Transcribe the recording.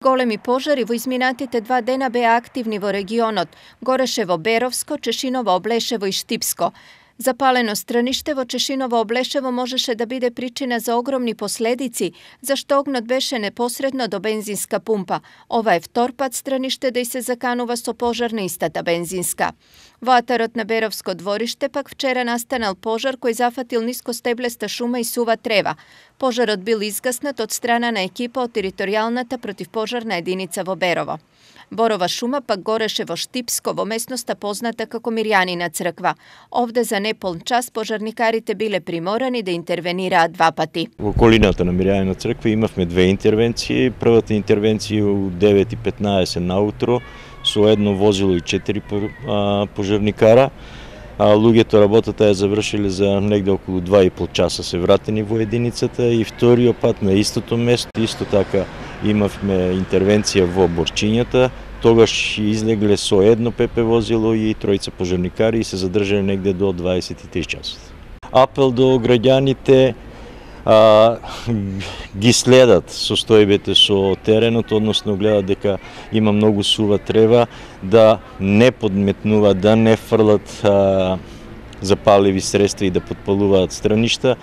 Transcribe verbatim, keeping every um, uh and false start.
Големи пожари во изминатите два дена беа активни во регионот Горешево, Беровско, Чешиново, Облешево и Штипско. Запалено страниште во Чешиново Облешево можеше да биде причина за огромни последици, зашто огнот беше непосредно до бензинска пумпа. Ова е втор пат страниште да и се заканува со пожар на истата бензинска. Во атарот на Беровско двориште пак вчера настанал пожар кој зафатил ниско стеблеста шума и сува трева. Пожарот бил изгаснат од страна на екипа од територијалната противпожарна единица во Берово. Борова шума пак гореше во Штипско, во местноста позната како Мирјанина црква. Овде за неполн час пожарникарите биле приморани да интервенираат два пати. Во околината на Мирјанина црква имавме две интервенции. Првата интервенција у девет и петнаесет наутро со едно возило и четири пожарникара. А луѓето работата ја завршиле за негде околу два и пол часа се вратени во единицата и вториот пат на истото место, исто така имавме интервенција во Борчињата, тогаш излегле со едно ПП возило и тројца пожарникари и се задржале негде до дваесет и три часот. Апел до граѓаните а, ги следат состојбите со теренот, односно гледат дека има многу сува трева, да не подметнуваат, да не фрлат а, запаливи средства и да подпалуваат страништа